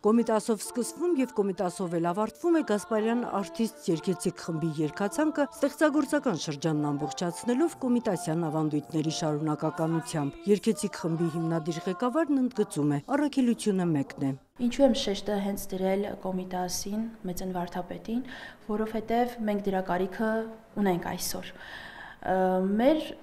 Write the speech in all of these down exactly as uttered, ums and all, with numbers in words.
Կոմիտասով սկսվում եւ Կոմիտասով էլ ավարտվում է Գասպարյան Artists երգեցիկ խմբի երգացանկը ստեղծագործական շրջանն ամբողջացնելով կոմիտասյան ավանդույթների շարունակականությամբ։ Երգեցիկ խմբի հիմնադիր ղեկավարն ընդգծում է՝ առաքելությունը մեկն է։ Ինչու եմ շեշտը հենց դրել Կոմիտասին, Մեծն Վարդապետին, որովհետև մենք դրա կարիքը ունենք այսօր։ Մեր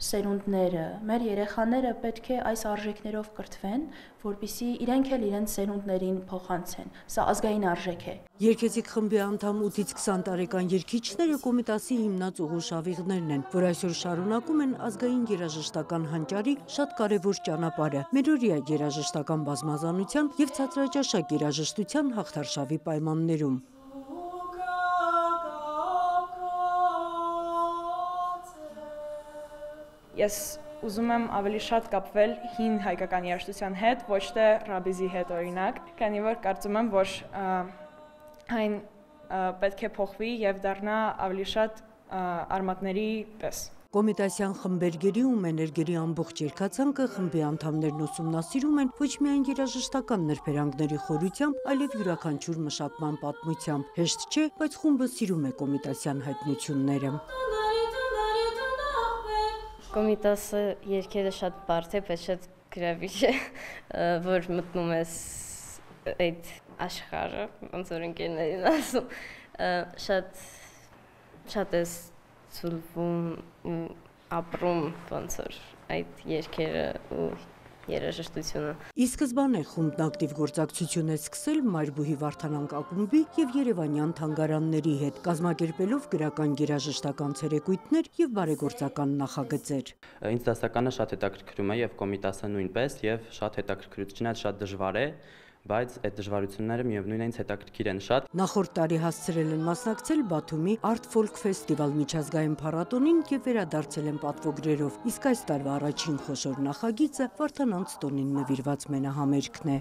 սերունդները, մեր երեխաները պետք է այս արժեքներով կրթվեն, որպեսզի իրենք էլ իրենց սերունդներին փոխանցեն։ Սա ազգային արժեք է։ Երգեցիկ խմբի անդամ ութից քսան տարեկան երգիչները Կոմիտասի հիմնած ուղու շավիղներն են, որ այսօր շարունակում են ազգային երաժշտական հանճարի շատ կարևոր ճանապարհը՝ մերօրյա երաժշտական բազմազանության եւ ցածրաճաշակ երաժշտության հաղթարշավի պայմաններում։ Ես ուզում եմ ավելի շատ կապվել հին հայկական երաժշտության հետ, ոչ թե ռաբիզի հետ օրինակ, քանի որ կարծում եմ, որ այն պետք է փոխվի եւ դառնա ավելի շատ արմատների պես։ Կոմիտասյան խմբերգերի ու մեներգերի ամբողջ երգացանկը խմբի անդամներն ուսումնասիրում են ոչ միայն երաժշտական նրբերանգների խորությամբ, այլև յուրաքանչյուր մշակման պատմությամբ։ Հեշտ չէ, բայց խումբը սիրում է կոմիտասյան հայտնությունները։ Կոմիտասը երգերը շատ բարդ է, բայց շատ գրավիչ է, որ մտնում ես այդ աշխարհը, ոնց որ ընկերներին ասում, շատ շատ ես ցուլվում, ապրում ոնց որ այդ երգերը ու երաժշտությունը։ Ի սկզբանե խումբն ակտիվ գործակցություն է սկսել Մայրբուհի Վարդանանք ակումբի եւ Երևանյան թանգարանների հետ, կազմակերպելով գրական երաժշտական ցերեկույթներ եւ բարեգործական նախագծեր։ Ինձ դասականը շատ հետաքրքրում է եւ Կոմիտասը նույնպես եւ շատ հետաքրքրությունն է, շատ դժվար է, բայց այդ դժվարությունները միևնույն է ինձ հետաքրքիր են շատ։ Նախորդ տարի հասցրել են մասնակցել Բաթումի Art Folk Festival միջազգային փառատոնին եւ վերադարձել են պատվոգրերով, իսկ այս տարվա առաջին խոշոր նախագիծը Վարդանանց տոնին նվիրված մենահամերգն է։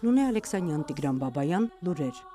Նունե Ալեքսանյան, Տիգրան Բաբայան, լուրեր։